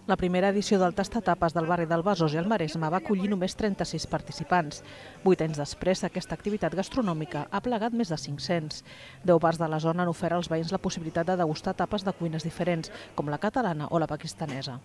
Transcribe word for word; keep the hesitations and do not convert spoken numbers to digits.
La primera edició del Tastatapes del barri del Besòs i el Maresme va acollir només trenta-sis participants. Vuit anys després, aquesta activitat gastronòmica ha plegat més de cinc-cents. Deu bars de la zona han ofert als veïns la possibilitat de degustar tapes de cuines diferents, com la catalana o la pakistanesa.